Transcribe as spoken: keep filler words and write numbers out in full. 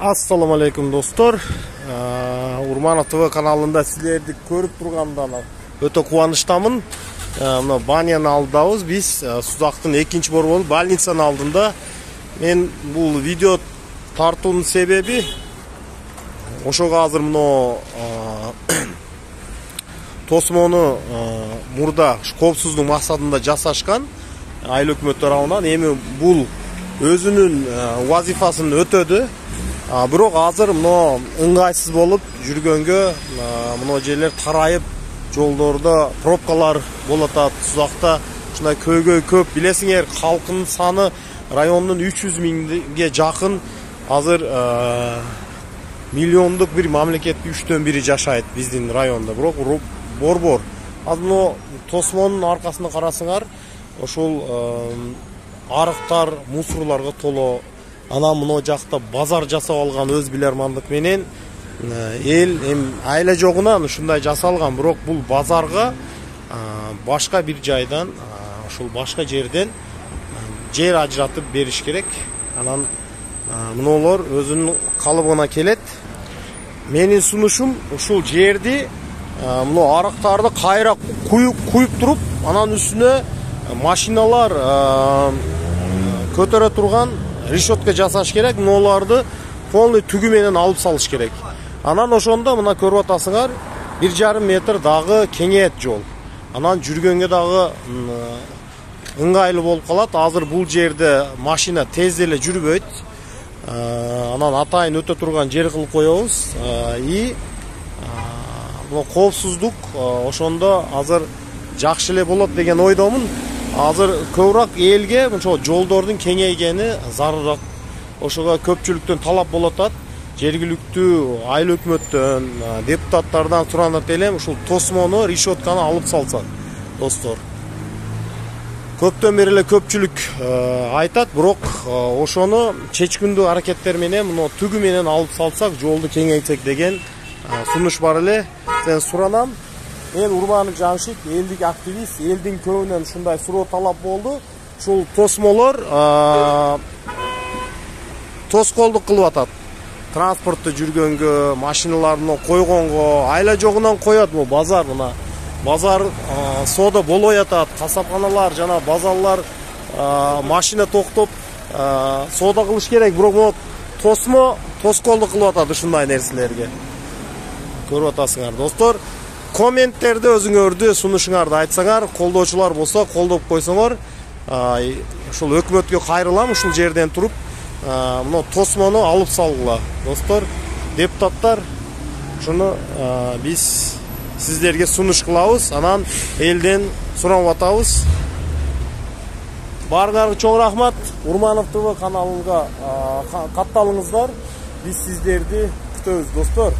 Assalamu alaikum dostlar. Urmanov T V kanalында силерди көрүп тургандан өтө кубанычтамын. Мына баняны алдыбыз биз Сузактын экинчи борбору больницанын алдында. Мен бул видео тартуунун себеби ошого азыр мына тосмону мурда коопсуздук максатында жасашкан айыл өкмөт тарабынан. Эми бул өзүнүн вазифасын өтөдү. Бирок азыр мына ыңгайсыз болуп жүргөнгө мына жерлер тарайып, жолдордо пробкалар болот атат. Сузакта ушундай көйгөй көп. Билесиңер, калкынын саны райондун үч жүз миңге жакын. Азыр миллиондук бир мамлекеттин үчтөн бири жашайт биздин районда. Бирок борбор. Азыр мына тосмонун аркасында карасыңар, ошол арыктар, мусорлорго толо. Ана мына жакта базар жасап алган өз билермандык менен эл эми айла жогунан ушундай жасалган. Бирок бул базарга башка бир жайдан, ошол башка жерден жер ажыратып бериш керек. Анан мыналар өзүнүн калыбына келет. Менин сунушум ушул жерди мына арыктарды кайра куюп куюп туруп, анан үстүнө машиналар көтөрө турган решетка жасаш керек. Мыналарды полный түгү менен алып салыш керек. Анан ошондо мына көрүп атасыңар, бир жарым метр дагы кеңейет жол. Анан жүргөнгө дагы ыңгайлуу болуп калат. Азыр бул жерде машина тез эле жүрбөйт. Анан атайын өтө турган жер кылып коебуз. И бул коопсуздук ошондо азыр жакшы эле болот деген ойдомун. Азыр көбүрөөк элге ошо жолдордун кеңейгени зарылыраак. Ошого көпчүлүктөн талап болот атат. Жергиликтүү айыл өкмөттөн, депутаттардан суранат элем, ушул тосмону, решетканы алып салсак, достор. Көптөн бери эле көпчүлүк айтат, бирок ошону чечкиндүү аракеттер менен, мына түгү менен алып салсак, жолду кеңейтсек деген сунуш бар эле. Сен суранам. Мен Урманов Жамшит, элдик активист, элдин көбүнөн ушундай суроо талап болду. Ушул тосмолор тоскоолдук кылып атат. Транспортто жүргөнгө, машиналарны койгонго, айла жогунан коет бул базар. Мына базар соода болбой атат. Касапканалар жана базарлар машина токтоп соода кылыш керек. Бирок бул тосмо тоскоолдук кылып атат ушундай нерселерге. Көрүп атасыңар, достор. Комменттерде өзүңөрдү сунушуңарды айтсаңар, колдоочулар болсо колдоп койсоңор, ушул өкмөткө кайрылам, ушул жерден туруп, мына тосмону алып салгыла. Достор, депутаттар, ушуну биз сиздерге сунуш кылабыз, анан элден сурап атабыз. Баарыңарга чоң рахмат. Урманов Т В каналына катталыңыздар. Биз сиздерди күтөбүз, достор.